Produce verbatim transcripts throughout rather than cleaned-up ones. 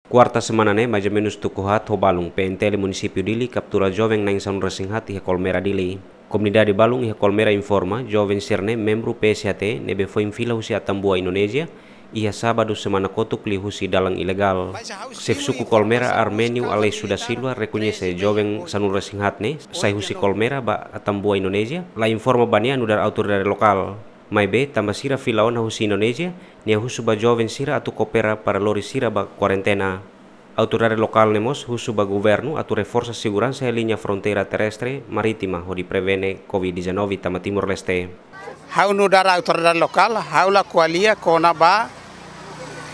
Kuarta semana ne'e, mais ou menus tuku haat ho balun, P N T L Munisípiu Dili kaptura joven na'in sanulu-resin-haat iha Kolmera, Dili. Komunidade balun iha Kolmera informa, joven sira-ne'e membru P S H T ne'ebé foin fila husi Atambua, Indonézia, iha sábadu semana kotuk liuhusi dalan ilegál. Xefe suku Kolmera, Arménio Aleixo da Silva, rekoñese joven sanulu-resin-haat ne'e sai husi Kolmera ba Atambua, Indonézia, la informa ba nia nu'udar autoridade lokál. Maibé, tanba sira fila ona husi Indonézia, nia husu ba joven sira atu koopera para lori sira ba kuarentena. Autoridade lokál ne'e mós husu ba governu atu reforsa seguransa iha liña fronteira terrestre marítima hodi prevene Covid dezanove tama Timor-Leste. Ha'u nu'udar autoridade lokál, ha'u la ko'alia kona-ba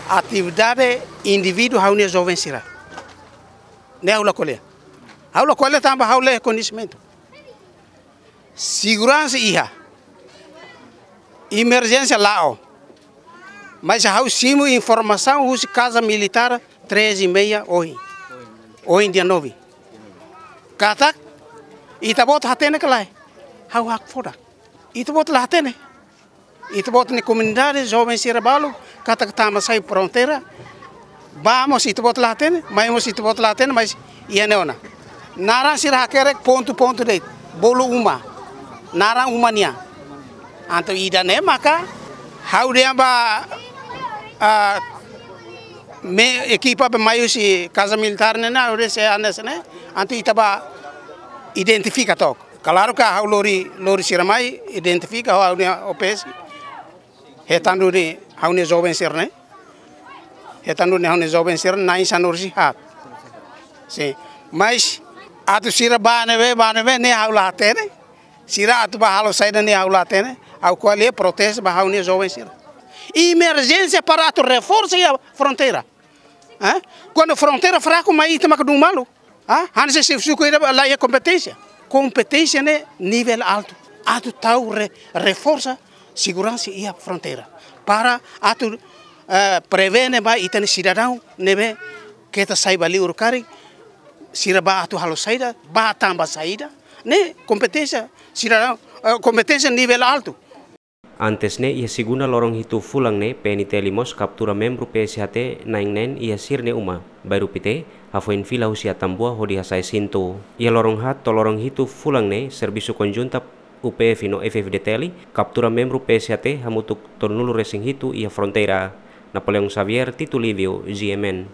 atividade indivíduu ha'u-nia joven sira. Ne'e ha'u la ko'alia. Ha'u la ko'alia tanba ha'u la iha koñesimentu. Seguransa iha. Emerjénsia la'o. Mais ha'u simu informasaun husi Kaza Militár treze e meia ohin. Ohin dia nove. Katak, ita-boot hatene ka lae? Ha'u hakfodak. Ita-boot la hatene. Ita-boot nia komunidade, joven sira balu, katak tama sai fronteira. Ba mós ita-boot la hatene, mai mós ita-boot la hatene, mais iha ne'e ona. Naran sira hakerek pontu-pontu de'it, bolu uma. Naran uma nian. Entaun ida-ne'e maka, ha'u dehan ba, ah, me ekipa be mai husi Kaza Militár ne'e, ha'u dehan se hanesan ne'e, entaun ita ba identifika took. Klaru ka ha'u lori, lori sira mai, identifika ho ha'u-nia O P S. Hetan duni ha'u-nia joven sira-ne'e. Hetan duni ha'u-nia joven sira na'in sanulu-resin-haat. Sin. Mais, atu sira ba ne'ebé, ba ne'ebé, ne'e ha'u la hatene. Sira atu ba halo saida ne'e ha'u la hatene. Ha'u ko'alia proteje ba ha'u-nia joven sira. Emerjénsia para atu reforsa iha fronteira. Hã? Kuandu fronteira fraku, mai ita maka dun malu. Hã? Hanesan xefe suku ida la iha kompeténsia. Kompeténsia ne'e nivel altu. Atu tau re-, reforsa seguransa iha fronteira. Para atu, eh, prevene ba ita-nia sidadaun ne'ebé keta sai ba liur karik, sira ba atu halo saida, ba tama saida, ne'e kompeténsia sidadaun, eh, kompeténsia nivel altu. Antes ne'e, iha segunda loron hitu fulan ne'e, P N T L mós kaptura membru P S H T na'in neen iha sira-nia uma, Bairru Pité, hafoin fila husi Atambua hodi hasa'e sintu. Iha loron haat to'o loron hitu fulan ne'e, servisu konjunta U P F no F F D T L kaptura membru P S H T hamutuk tolunulu-resin-hitu iha fronteira. Napoleão Xavier, Tito Livio, G M N.